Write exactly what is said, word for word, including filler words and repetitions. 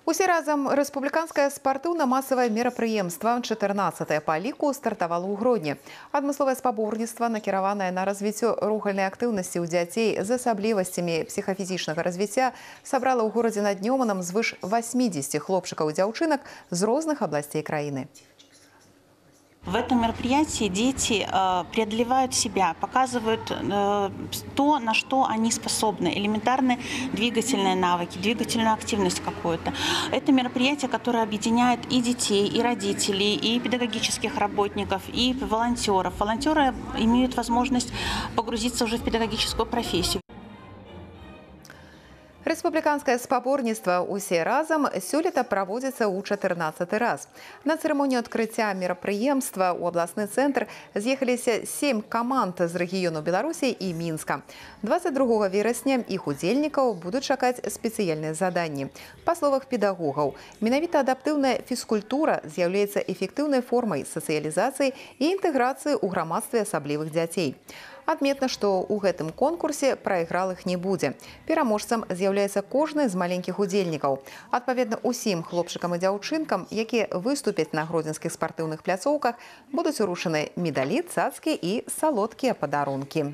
Усе разам рэспубліканскае спартыўна-масавае мерапрыемства чатырнаццатае па ліку стартавала ў Гродні. Адмысловае спаборніцтва, накіраванае на развіццё рухальнай актыўнасці ў дзяцей з асаблівасцямі псіхафізічнага развіцця, сабрала ў горадзе над Нёманам звыш васьмідзесяці хлопчыкаў і дзяўчынак з розных абласцей краіны. В этом мероприятии дети э, преодолевают себя, показывают э, то, на что они способны, элементарные двигательные навыки, двигательную активность какую-то. Это мероприятие, которое объединяет и детей, и родителей, и педагогических работников, и волонтеров. Волонтеры имеют возможность погрузиться уже в педагогическую профессию. Рэспубліканскае спаборніцтва «Усе разам» сёлета праводзіцца ў чатырнаццаты раз. На цырымонію адкрыцця мерапрыемства ў абласны цэнтр з'ехаліся сем каманд з рэгіёну Беларусі і Мінска. дваццаць другога верасня іх удзельнікаў будуць чакаць спецыяльныя заданні. Па словах педагогаў, менавіта адаптыўная фізкультура з'яўляецца эфектыўнай формай сацыялізацыі і інтэграцыі ў грамадстве асаблівых дзяцей. Адметна, што ў гэтым конкурсе прайгралых не будзе. Пераможцам з'яўляецца кожны з маленькіх удзельнікаў. Адпаведна, усім хлопчыкам і дзяўчынкам, якія выступяць на гродзенскіх спартыўных пляцоўках, будуць уручаны медалі, цацкі і салодкія падарункі.